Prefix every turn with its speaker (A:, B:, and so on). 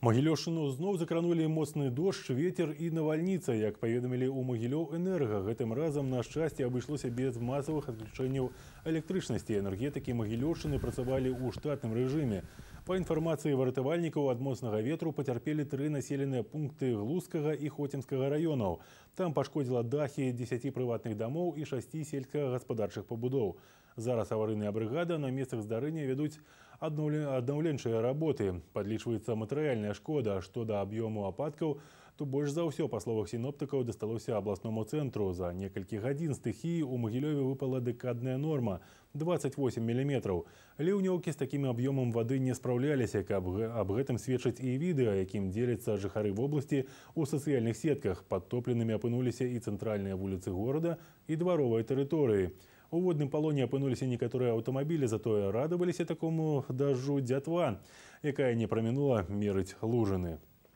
A: Магілёўшчыну зноў закранулі моцны дождж, ветер і навальніца. Як паведамілі ў Магілёў-энерга, гэтым разам на шчасце абышлося без масавых адключэнняў электрычнасці. Энергетыкі Магілёўшчыны працавалі ў штатным рэжыме. Па інфармацыі выратавальнікаў, ад моцнага ветру пацярпелі 3 населеныя пункты Глузскага і Хоцімскага раёнаў. Там пашкодзіла дахі 10 прыватных дамоў і 6 сельскагаспадарчых пабудоў. Зараз аварыйная брыгада на месцах здарэння вядуць аднаўленчыя работы. Падлічваецца матэрыяльная шкода. Што да аб'ёму ападкаў, то больш за ўсё, па словах сіноптыкаў, дасталося абласному цэнтру. За некалькі гадзін стыхіі ў Магілёве выпала дэкадная норма – 28 мм. Ліўнёўкі з такім аб'ёмам вады не спраўляліся. Аб гэтым сведчаць і відэа, якім дзеляцца жыхары вобласці ў сацыяльных сетках. Падтопленымі апынуліся і цэнтральныя вуліцы горада, і дваровыя тэрыторыі. У водным палоне апынуліся некаторыя аўтамабілі, затое радаваліся такому дажджу дзятва, якая не прамінула мерыць лужыны.